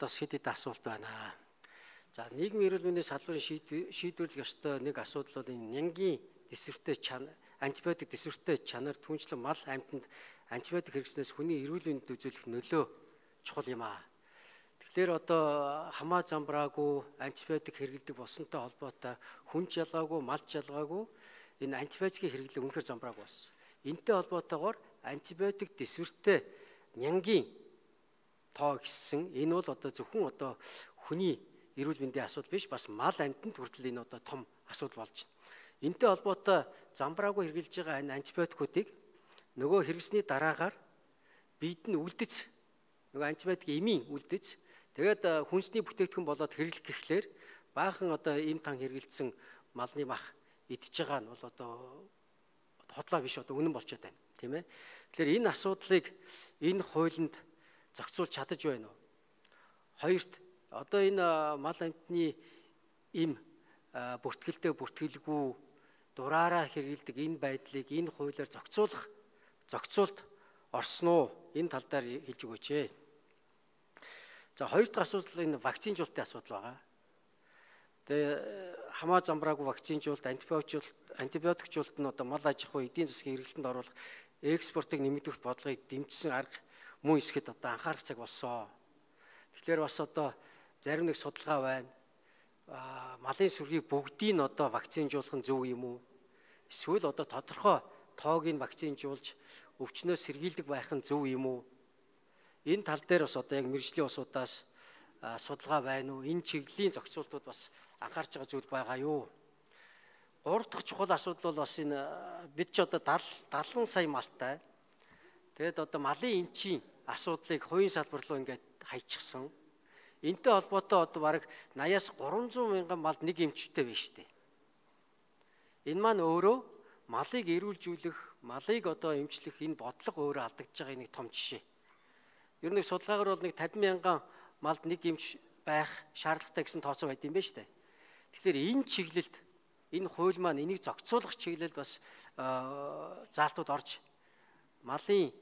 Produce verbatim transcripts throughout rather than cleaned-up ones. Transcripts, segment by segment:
одоо хэд хэд асуулт байна. За нийгмийн эрүүл мэндийн салбарын шийдвэрлэх ёстой нэг асуудал бол энэ нянгийн дэсвэртэй чанар, антибиотик дэсвэртэй чанар түнчлэн мал амьтанд антибиотик хэрэглэснээс хүний эрүүл мэндэд үзүүлэх нөлөө чухал юм аа. Тэгэхээр одоо хамаа замбраагүй антибиотик хэрэглэдэг болсонтой холбоотой хүн жалгаагүй, мал жалгаагүй энэ антибиотикийн хэрэглээ үнэхээр замбраагүй болсон. Энтэй холбоотойгоор антибиотик дэсвэртэй нянгийн тоо гэсэн энэ бол одоо зөвхөн одоо хүний эрүүл мэндийн асуудал биш, бас мал амьтанд хүртэл энэ одоо том асуудал болж байна. Энтэй холбоотой замбраагүй хэрэгжилж байгаа энэ антибиотикуудыг нөгөө хэрэгсний дараагаар биед нь үлдэц, нөгөө антибиотик эмийн үлдэц, тэгээд хүнсний бүтээгдэхүүн болоод хэрэглэх гэхлээр баахан одоо эм тан хэрэгэлсэн малны мах идж байгаа нь бол одоо хотлоо биш, одоо үнэн болчиход байна, тийм ээ. Тэгэхээр энэ асуудлыг энэ хуулинд зохицуулж чадаж байна уу? Хоёрт одоо энэ мал амьтны эм бүртгэлтэй бүртгэлгүй дураараа хэрэгэлдэг энэ байдлыг энэ хуулиар зохицуулах зохицуулт орсон уу? Энэ тал дээр хэлж өгөөч ээ. За хоёр дахь асуудал энэ вакцинжуулалтын асуудал байгаа. Тэгээ хамаа замбраагүй вакцинжуулалт, антибиотик антибиотикжуулалт нь одоо мал аж ахуй эдийн засгийн хэрэглэлтэнд оруулах экспортыг нэмэгдүүлэх бодлогыг дэмжсэн арга мөн эсгэд одоо анхаарах цаг болсон. Тэгэхээр бас одоо зарим нэг судалгаа байна. Малын сүргийг бүгдийг нь одоо вакцинжуулах нь зөв юм уу? Эсвэл одоо тодорхой тоог нь вакцинжуулж өвчнөөс сэргийлдэг байх нь зөв юм уу? Энэ тал дээр бас одоо яг мэргэжлийн усудаас судалгаа байна уу? Энэ чиглэлийн зохицуултууд бас анхаарч байгаа зүйл байгаа юу? Гурав дахь чухал асуудал бол бас энэ бид ч одоо дадлан сая малтай. Тэгээд одоо малын эмчийн асуудлыг хувийн салбар руу ингээд хайчихсан. Энтэй холбоотой одоо бараг нааяас гурван зуун мянган малд нэг эмчтэй байна шүү дээ. Энэ маань өөрөө малыг эрүүлжүүлэх, малыг одоо эмчлэх энэ бодлого өөрөө алдагдж байгаа нэг том жишээ. Ер нь судалгаагаар бол нэг тавин мянган малд нэг эмч байх шаардлагатай гэсэн тооцоо байд юм байна шүү дээ. Тэгэхээр энэ чиглэлд энэ хууль маань энийг зохицуулах чиглэлд бас заалтууд орж малын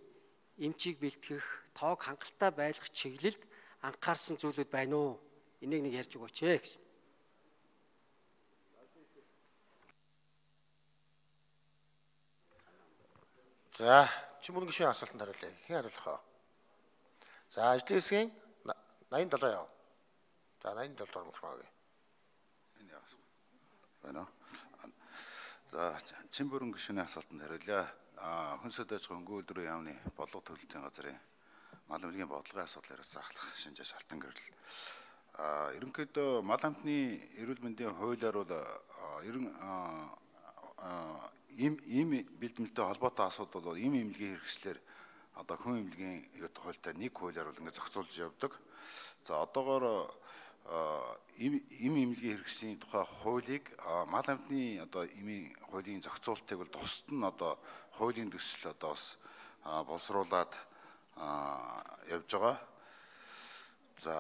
эмчийг бэлтгэх, тоог хангалттай байлгах чиглэлд анхаарсан зүйлүүд байна уу? Энийг нэг ярьж өгөөч ээ гэж. За, чи мөн гişийн асуултанд хариулъя. Хэн хариулах вэ? За, ажлын хэсгийн найман долоо яв. За, найман долоо мөрмөөг. Энэ яасан. Байна. За, чин бүрэн гişүний асуултанд хариулъя. А хүнсэд аж хөнгө өдрийн яамны бодлого төлөлтийн газрын мал эмнэлгийн бодлогын асуудал яриад заахлах шинжээ шалтан гэрэл. А ерөнхийдөө мал амтны эрүүл мэндийн хуулиар бол ерөн им им бэлтгэлтэй холбоотой асуудал бол им эмнэлгийн хэрэгслэр одоо хүн эмнэлгийн хуультай нэг хуулиар бол ингэ зохицуулж явдаг. За одоогоор им им эмнэлгийн хэрэгслийн тухай хуулийг мал амтны одоо имийн хуулийн зохицуултыг бол тусад нь одоо хуулийн төсөл одоо бас боловсруулад явж байгаа. За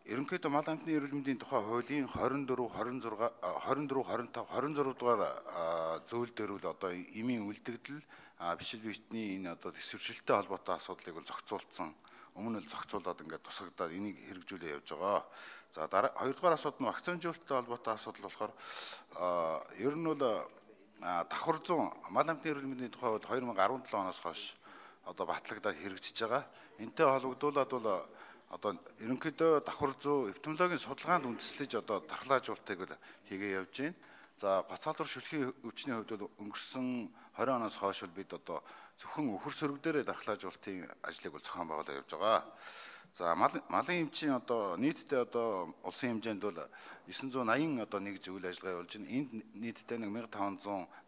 ерөнхийдөө мал амтны эрүүл мэндийн тухай хуулийн двадцать четыре, двадцать шесть, двадцать четыре, двадцать пять, двадцать шесть дугаар зөвлөл дээр бол одоо имийн үлдэгдэл бишил битний энэ одоо төсвөрчлөлттэй холбоотой асуудлыг бол зохицуулсан. Өмнө нь зохицуулаад ингээд тусагдаад энийг хэрэгжүүлээ явж байгаа. За дараа хоёрдугаар асуудал нь вакцинжуулалттай холбоотой асуудал болохоор ер нь бол давхар зүүн мал амтны эрүүл мэндийн тухай бол две тысячи десять оноос хойш одоо батлагдаад хэрэгжиж байгаа. Энтэй холбогдуулаад бол одоо ерөнхийдөө давхар зүү эпидемиологийн судалгаанд үндэслэж одоо дархлаажуулалтыг бол хийгээ явж байна. За гоцаалбар шүлхийн өвчний хувьд бол өнгөрсөн двадцать оноос хойш бид одоо зөвхөн өхөр сөрөг дээрээ дархлаажуулалтын ажлыг бол зохион байгуулаад явж байгаа. За малын эмчийн одоо нийтдээ одоо улсын хэмжээнд бол девять восемь одоо нэг зүйл ажиллагаа явуулж байна. Энд нийтдээ нэг фifteen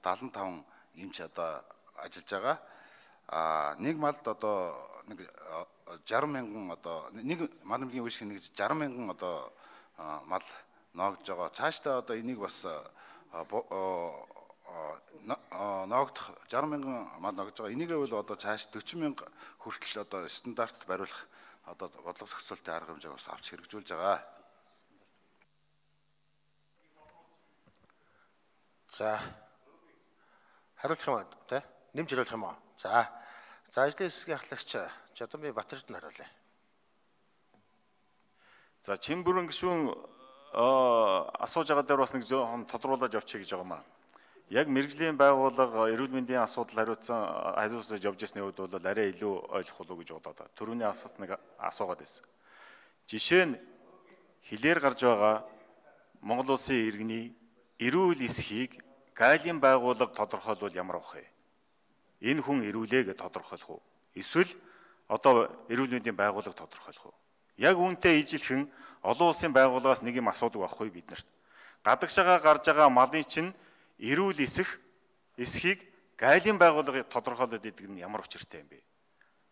seventy five эмч одоо ажиллаж байгаа. А нэг малд одоо нэг sixty мянган одоо нэг мал эмнэлгийн үе шиг нэг sixty мянган одоо мал ноогдож байгаа. Цаашдаа одоо энийг бас ноогдох sixty мянган мал ноогдож байгаа. Энийг бол одоо цааш forty мянга хүртэл одоо стандартд бариулах одоо бодлого зохицуулалтын арга хэмжээг бас авч хэрэгжүүлж байгаа. За хариулах юм аа тий? Нэмж хариулах юм аа. За. За ажлын хэсгийн ахлагч Жадамбай Батэрд нь хариулъя. За Чимбүрэн гишүүн асууж байгаа дээр бас нэг жоохон тодруулаад явчих гэж байгаа маа. Яг мэрэгжлийн байгууллага эрүүл мэндийн асуудал хариуцсан хариуцаж явж ирсний үед бол арай илүү ойлгох болов гэж бодоод байна. Төрөний асуулт нэг асуугаад байсан. Жишээ нь хилээр гарч байгаа Монгол улсын иргэний эрүүл эсхийг гайлын байгууллага тодорхойлвол ямар авах вэ? Энэ хүн эрүүлээ гэж тодорхойлох уу? Эсвэл одоо эрүүл мэндийн байгууллага тодорхойлох уу? Яг үүнтэй ижилхэн олон улсын байгууллагаас нэг юм асуудаг байхгүй бид нарт. Гадагшаага гарч байгаа малын чинь эрүүл эсэх эсхийг гайлын байгууллага тодорхойлоод идэг нь ямар учиртай юм бэ?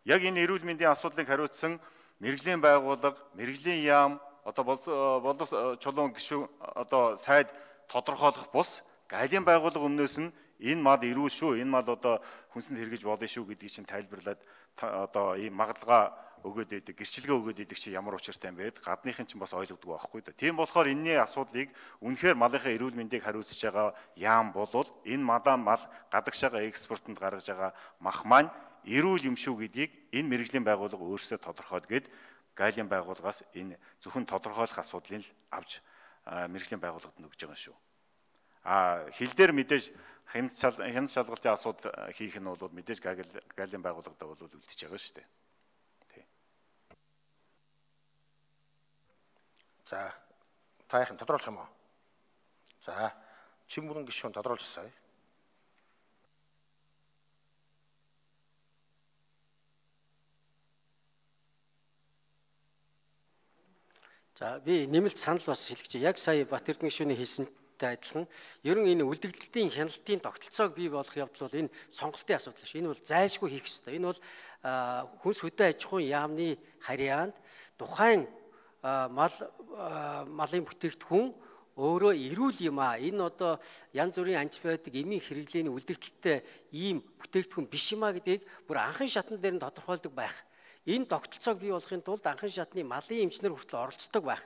Яг энэ эрүүл мэндийн асуудлыг хариуцсан мэрэгжлийн байгууллага, мэрэгжлийн яам, одоо боловс чулуун гишүүн одоо сайд тодорхойлох бус гайлын байгууллага өмнөөс нь энэ мал эрүүл шүү, энэ мал одоо хүнсэнд хэрэгж болно шүү гэдгийг чинь тайлбарлаад одоо ийм магадлага өгөөд идэг, гэрчлэгээ өгөөд идэг чи ямар учиртай юм бэ? Гадныхын чинь бас ойлгодог байхгүй да. Тийм болохоор энэний асуудлыг үнэхээр малынхаа эрүүл мэндийг хариуцж байгаа яам болвол энэ мадаа мал гадагшаага экспортод гаргаж байгаа мах маань эрүүл юм шүү гэдгийг энэ мэрэгжлийн байгууллага өөрсдөө тодорхойлж гээд гайлын байгууллагаас энэ зөвхөн тодорхойлох асуудлыг л авч мэрэгжлийн байгууллагад нөгж байгаа шүү. А хил дээр мэдээж хяналт хяналт шалгалтын асуудал хийх нь бол мэдээж гайлын байгууллагад бол үлдчихэж байгаа шүү дээ. За, таахын тодруулах юм уу? За, Чимбүрэн гишүүн тодруулчихсаа. За, би нэмэлт санал бас хэлэх чи яг сая Батэрдэн гишүүний хэлсэнтэй адилхан ер нь энэ үлдэгдэлтийн хяналтын тогтолцоог бий болгох явдал бол энэ сонголтын асуудал шүү. Энэ бол зайлшгүй хийх ёстой. Энэ бол хүнс хөдөө аж ахуйн яамны харьяанд тухайн мал малын бүтээгдэхүүн өөрөө эрүүл юм аа. Энэ одоо янз бүрийн антибиотик эмийн хэрэглээний үлдэгдэлтэй ийм бүтээгдэхүүн биш юм аа гэдгийг бүр анхан шатн дээр нь тодорхойлдог байх. Энэ тогтолцоог бий болгохын тулд анхан шатны малын эмчнэр хүртэл оролцдог байх.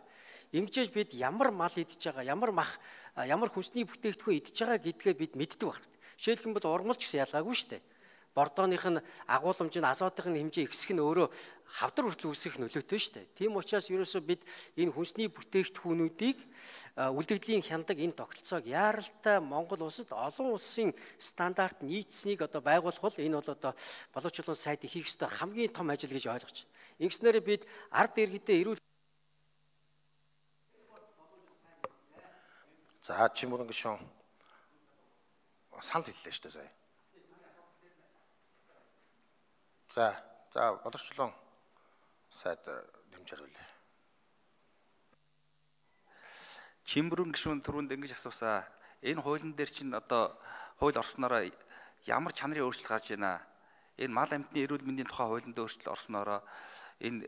Ингэжээж бид ямар мал идж байгаа, ямар мах, ямар хүнсний бүтээгдэхүүн идж байгаа гэдгээ бид мэддэг байна. Жишээлх юм бол урмалч гэсэн ялгаагүй шүү дээ. Бордооных нь агуулмж нь азотын хэмжээ ихсэх нь өөрөө хавдар хүртэл үүсэх нөлөөтэй шүү дээ. Тийм учраас ерөөсөө бид энэ хүнсний бүтээгдэхүүнүүдийг үлдэгдлийн хяндаг энэ тогтолцоог яаралтай Монгол улсад олон улсын стандарт нийцсэнийг одоо байгуулах бол энэ бол одоо боловч чулуун сайдын хийх ёстой хамгийн том ажил гэж ойлгож байна. Ингэснээр бид ард иргэдээ эрүүл. За, Чимбүрэн гишүүн санал хэллээ шүү дээ сая. За, за боловч чулуун сайд дэмж хариулъя. Чимбүрэн гишүүн түрүүнд ингэж асуусаа. Энэ хуулийн дээр чинь одоо хууль орснороо ямар чанарын өөрчлөлт гарч байна? Энэ мал амьтны эрүүл мэндийн тухай хуулинд өөрчлөлт орснороо энэ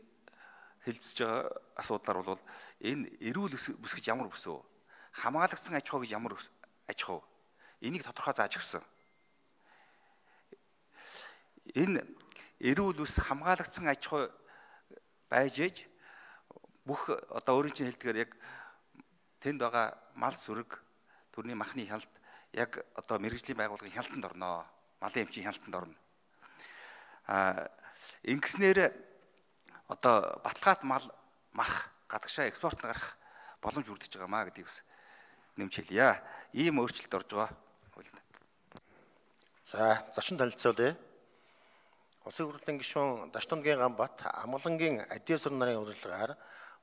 хэлэлцэж байгаа асуудлаар бол энэ эрүүл бүс гэж ямар бүс вэ? Хамгаалагдсан аж ахуй гэж ямар аж ахуй? Энийг тодорхой зааж өгсөн. Энэ эрүүл ус хамгаалагдсан аж ахуй байж ээж бүх одоо өөрийн чинь хэлдгээр яг тэнд байгаа мал сүрэг төрний махны хяналт яг одоо мэрэгжлийн байгууллагын хяналтанд орно. Малын эмчийн хяналтанд орно. А ингэснээр одоо баталгаат мал мах гадагшаа экспортод гарах боломж бүрдэж байгаа маа гэдгийг бас нэмж хэлье. Ийм өөрчлөлт орж байгаа. За, зочин танилцуулъя. Улсын хурлын гишүүн Даштунгийн Ганбат Амгалангийн Адиасур нарын урилгаар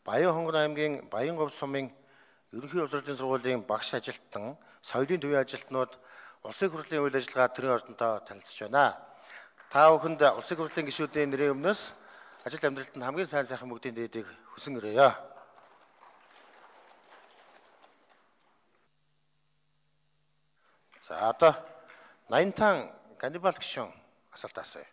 Баян Хонгор аймгийн Баянговь сумын ерөнхий боловсролын сургуулийн багш ажилтан, соёлын төвийн ажилтнууд улсын хурлын үйл ажиллагаа төрийн ордонтой танилцж байна. Та бүхэнд улсын хурлын гишүүдийн нэрийн өмнөөс ажил амьдралтанд хамгийн сайн сайхан бүгдийн дээдийг хүсэн өрөөё. За одоо Наянтан Ганнибал гишүүн асуулт асууя.